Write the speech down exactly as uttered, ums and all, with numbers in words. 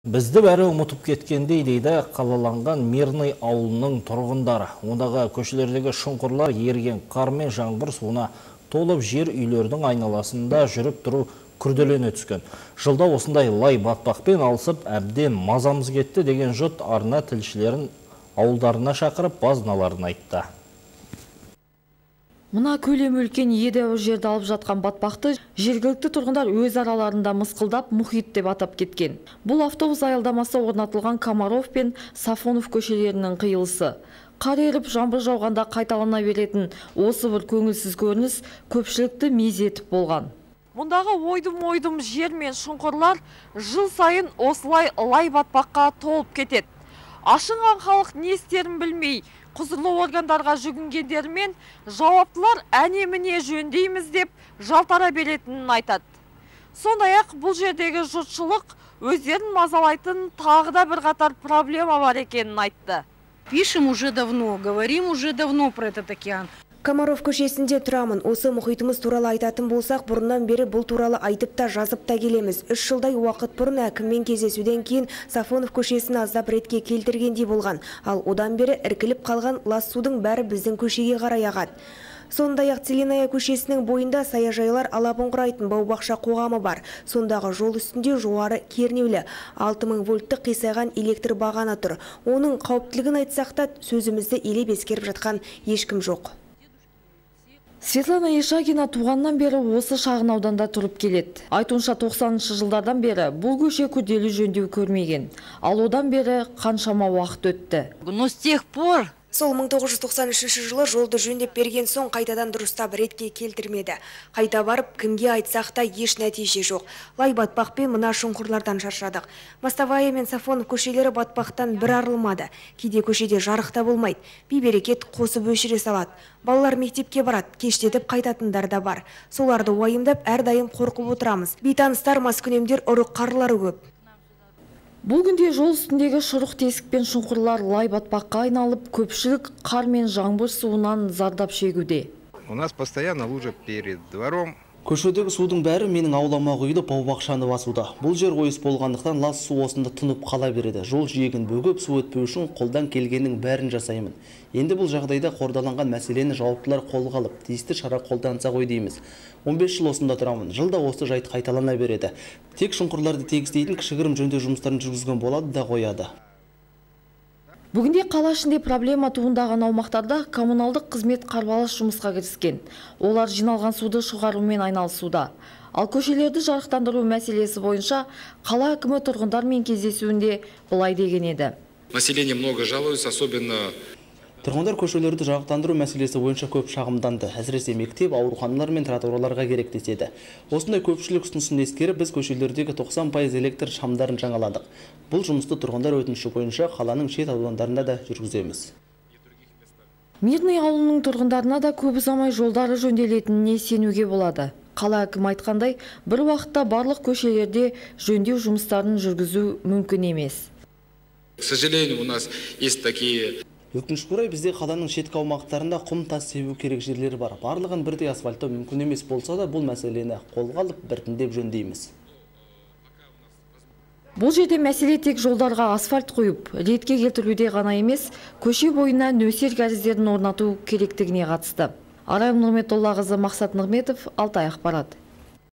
Бізді бәрі ұмытып кеткендей дейді қалаланған Мирный ауылының тұрғындары. Ондағы көшелердегі шұңқырлар еріген қар мен жаңбыр суына толып жер үйлердің айналасында жүріп тұру күрделене түскен. Жылда осындай лай батпақпен алысып әбден мазамыз кетті деген жұрт арна тілшілерін ауылдарына шақырып базыналарын айтты. Мұна көлем үлкен едәуір жерді алып жатқан батпақты жергілікті тұрғындар өз араларында мысқылдап мұхит деп атап кеткен. Бұл автобус аялдамасы орнатылған Комаров пен Сафонов көшелерінің қиылысы. Қар еріп жаңбыр жауғанда қайталана беретін осы бір көңілсіз көрініс көпшілікті мезетіп болған. Мұндағы ойдым-ойдым жер мен шұңқырлар жыл сайын осылай лай батпаққа толып кетеді. Ашынған халық не істерін білмей, құзырлы органдарға жүгінгендермен жауаптылар әне-міне жөндейміз деп жалтара беретінін айтады. Сондай-ақ бұл жердегі жұртшылық өздерін мазалайтын тағы да бір қатар проблема бар екенін айтты. Пишем уже давно, говорим уже давно про этот океан. Комаров көшесінде тұрамын. Осы мұхитымыз туралы айтатын болсақ, бұрыннан бері бұл туралы айтып та жазып та келеміз. Үш жылдай уақыт бұрын әкіммен кездесуден кейін Сафонов көшесін аздап ретке келтіргендей болған. Ал одан бері іркіліп қалған лас судың бәрі біздің көшеге қарай ағады. Сондай-ақ Целиная көшесінің бойында саяжайлар алабын құрайтын бау-бақша қоғамы бар. Сондағы жол үстінде жоғары кернеулі алты мың вольттық қисайған электр бағаны тұр. Оның қауіптілігін айтсақ та сөзімізді елеп ескеріп жатқан ешкім жоқ. Светлана Ешагина туғаннан бері осы шағын ауданда тұрып келеді. Айтуынша тоқсаныншы жылдардан бері бұл көше күрделі жөндеу көрмеген. Ал одан бері қаншама уақыт өтті. Но с тех пор Сол мың тоғыз жүз тоқсан үшінші жылы жолды жөндеп берген соң қайтадан дұрыстап ретке келтірмеді. Қайта барып кімге айтсақ та еш нәтиже жоқ. Лай батпақпен мына шұңқырлардан шаршадық. Мостовая мен Сафонов көшелері батпақтан бір арылмады. Кейде көшеде жарық та болмайды. Бей-берекет қосып өшіре салады. Балалар мектепке барады, кештетіп қайтатындар да бар. Соларды уайымдап әрдайым қорқып отырамыз. Бейтаныстар маскүнемдер ұрық қарлары көп. Бұл күнде жол үстіндегі шұрық тесік пен шұңқырлар лай батпаққа айналып, көпшілік қар мен жаңбыр суынан зардап шегуде. У нас постоянно лужа перед двором. Көшедегі судың бәрі менің аулама құйылып бау-бақшаны басуда. Бұл жер ойыс болғандықтан лас су осында тұнып қала береді. Жол жиегін бөгіп су өтпеу үшін қолдан келгеннің бәрін жасаймын. Енді бұл жағдайда қордаланған мәселені жауаптылар қолға алып, тиісті шара қолданса ғой дейміз. он бес жыл осында тұрамын. Жылда осы жайт қайталана береді. Тек шұңқырларды тегістейтін кішігірім жөндеу жұмыстарын жүргізген болады да қояды. Бүгінде қала ішінде проблема туындаған аумақтарда коммуналдық қызмет қарбалас жұмысқа кіріскен. Олар жиналған суды шығарумен айналысуда. Ал көшелерді жарықтандыру мәселесі бойынша қала әкімі тұрғындармен кездесуінде былай деген еді. Население много жалуется, особенно Тұрғындар көшелерді жарықтандыру мәселесі бойынша көп шағымданды. Әсіресе мектеп, ауруханалар мен тротуарларға керек деседі. Осындай көпшілік ұсынысын ескеріп, біз көшелердегі тоқсан пайыз электр шамдарын жаңаладық. Бұл жұмысты тұрғындар өтініші бойынша қаланың шет аудандарында да жүргіземіз. Мирный ауылының тұрғындарына да көп ұзамай жолдары жөнделетініне сенуге болады. Қала әкімі айтқандай, бір уақытта барлық көшелерде жөндеу жұмыстарын жүргізу мүмкін емес. К сожалению, у нас есть такие Өкінішке орай бізде қаланың шеткі аумақтарында құм тас себу керек жерлер бар. Барлығын бірдей асфальттау мүмкін емес болса да, бұл мәселені қолға алып біртіндеп жөндейміз. Бұл жерде мәселе тек жолдарға асфальт қойып, ретке келтіруде ғана емес, көше бойына нөсер кәріздерін орнату керектігіне қатысты. Арай Нұрметоллақызы, Мақсат Нұрметов, Алтай ақпарат.